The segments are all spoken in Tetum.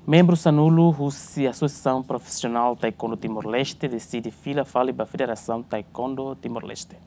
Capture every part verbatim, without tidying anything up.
Membru sanulu husi Asosiasaun Profisionál Taekwondo Timor-Leste deside fila fali ba Federasaun Taekwondo Timor-Leste.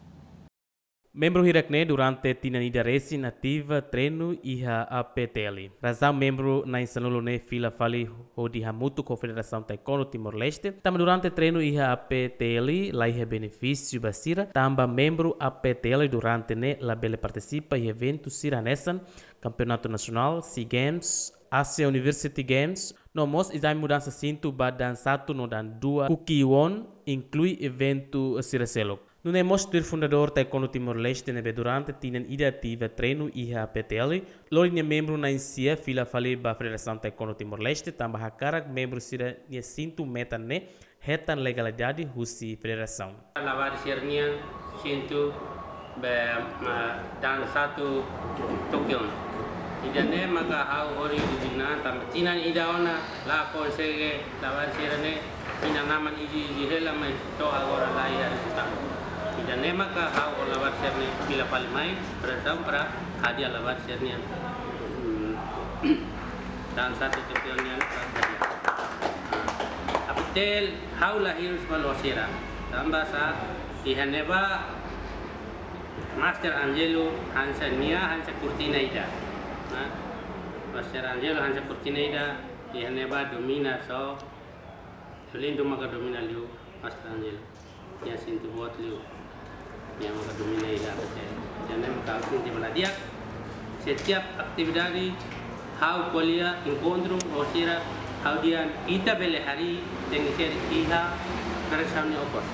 Membru hirak-ne'e durante tinan ida resin ativa treinu iha A P T L. Razaun membru na'in sanulu ne'e fila fali hodi hamutuk ho Federasaun Taekwondo Timor-Leste, tanba durante treinu iha A P T L la iha benefísiu ba sira, tanba membru A P T L durante ne'e labele partisipa iha eventu sira hanesan Kampeonatu Nasionál, SEA Games, Asia University Games, no mós ezame mudansa sintu ba daan satu no daan dua Kukkiwon, inklui eventu sira seluk. Nune'e mós tuir fundadór Taekwondo Timor-Leste ne'ebé durante tinan ida ativa treinu iha A P T L, lori nia membru na'in sia fila fali ba Federasaun Taekwondo Timor-Leste, tanba hakarak membru sira-nia sintu metan ne'e hetan legalidade husi federasaun. Labarik sira-nian sintu be, ma, daan satu Tokyo. Ida-ne'e maka ha'u hori di dinan tanba tinan ida ona la konsege labarik sira-ne'e inan-aman iji-iji hela mai to'o agora la iha rezultadu. Ida-ne'e maka ha'u ho labarik sira-ne'e fila fali mai Federasaun para hadi'a labarik sira-nian. Hmm. Daan satu Tokyo nian para hadi'a. A P T L ha'u la hirus ba loos sira. Tanba sá, iha ne'ebá Master Angelo hanesan nia hanesan kurtina ida. Nah, Master Angelo hanesan kurtina ida, iha ne'ebá domina só, Lindo maka domina liu Master Angelo. Nia sintu boot liu. Nia maka domina ida A P T L. Ida-ne'e maka ha'u sente bala di'ak. Setiap atividade ha'u ko'alia, enkontru ho sira, ha'u dehan ita bele harii tenke ser iha Federasaun nia okos.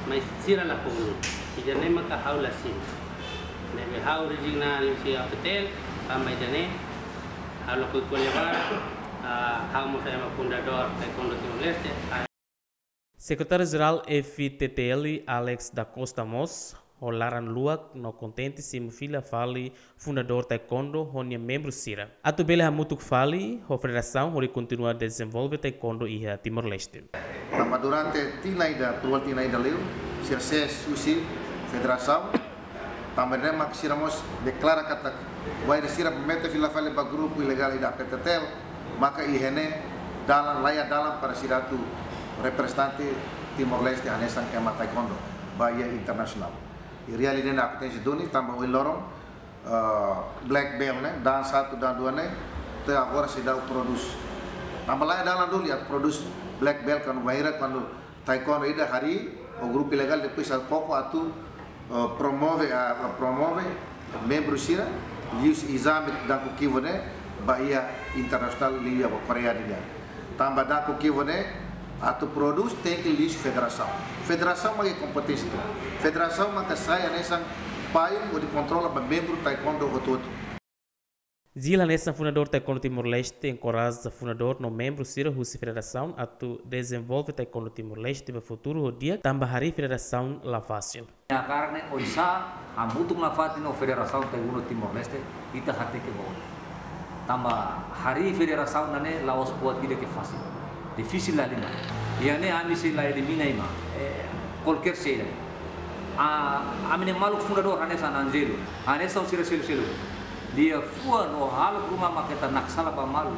Mas sira la fó ulun. Ida-ne'e maka ha'u la simu. Ne'ebé ha'u rezigna liuhusi A P T L, tanba ida-ne'e, ha'u lakohi ko'alia barak, ah, ha'u mós ema fundadór Taekwondo Timor-Leste, Sekretáriu Jerál F T T L, Alex da Costa mós ho laran luak no kontente simu fila fali fundadór Taekwondo ho nia membru sira, atu bele hamutuk fali ho federasaun hodi kontinua dezenvolve Taekwondo iha Timor-Leste. Tanba durante tinan ida, tual tinan ida liu, sira ses husi federasaun, tanba ne'e mak sira mós deklara katak bainhira sira mete fila fali ba grupu ilegál ida A P T T L, maka iha ne'e dalan, la iha dalan para sira atu reprezentante Timor-Leste hanesan ema taekwondo ba iha internasionál. I realidade ne'e akontese duni tanba ohin loron, eh, black belt ne'e, daan satu, daan dua ne'e, até agora seidauk prodús. Tanba la iha dalan duni atu prodús black belt kuandu bainhira kuandu taekwondo ida harii, o grupu ilegál depois atu koko atu, eh, promove, ah, promove membru sira, liuhusi ezame daan Kukkiwon ne'e, ba iha internasionál liu iha ba Koreia nian. Tanba daan Kukkiwon ne'e, atu prodús tenke liuhusi federasaun. Federasaun mak iha kompeténsia. Federasaun maka sai hanesan payung hodi kontrola ba membru taekwondo hotu-hotu. Jil hanesan fundadór Taekwondo Timor-Leste enkoraja fundadór no membru sira husi federasaun atu dezenvolve Taekwondo Timor-Leste ba futuru ho di'ak, tanba harii federasaun la fasil. Ha'u hakarak ne'e oinsá hamutuk nafatin ho Federasaun Taekwondo Timor-Leste ita hateke ba oin. Tanba harii federasaun ne'e la'ós buat ida ke fasil. Difisil la lima. Iha ne'e ami sei la elimina ema. Eh, kualkér saida. Ah, ami-nia maluk fundadór hanesan Angelo, hanesan sira seluk-seluk. Liafuan no hahalok ruma mak ita naksala ba malu.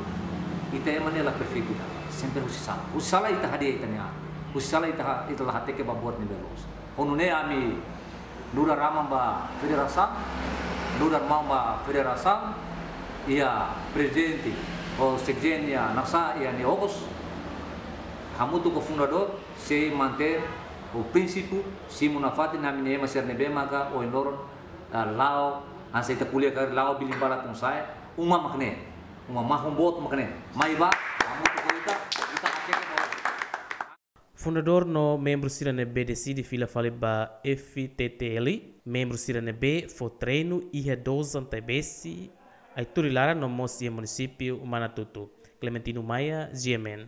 Ita ema ne'e la perfeitu ida. Sempre husi sala. Husi sala ita hadi'a ita-nia an. Husi sala ita ha-, ita la hateke ba buat ne'ebé loos. Ho nune'e ami nu'udar aman ba federasaun, nu'udar maun ba federasaun, iha prezidente, ho sekjen iha nasa, iha nia okos, hamutuk ho fundadór, sei mantein ho prinsípiu, simu nafatin ami-nia ema sira ne'ebé maka ohin loron, ah, la'o, hanesan ita ko'alia karik la'o bilinguál tun sa'e, uma mak ne'e, uma mahon boot mak ne'e, mai bá, hamutuk ho ita, ita hateke ba oin. Fundadór no membru sira ne'ebé deside fila fali ba F T T L, membru sira ne'ebé fó treinu iha Dozan Taibesi, Aituri laran no mós iha munisípiu Manatutu. Clementino Maia, G M N.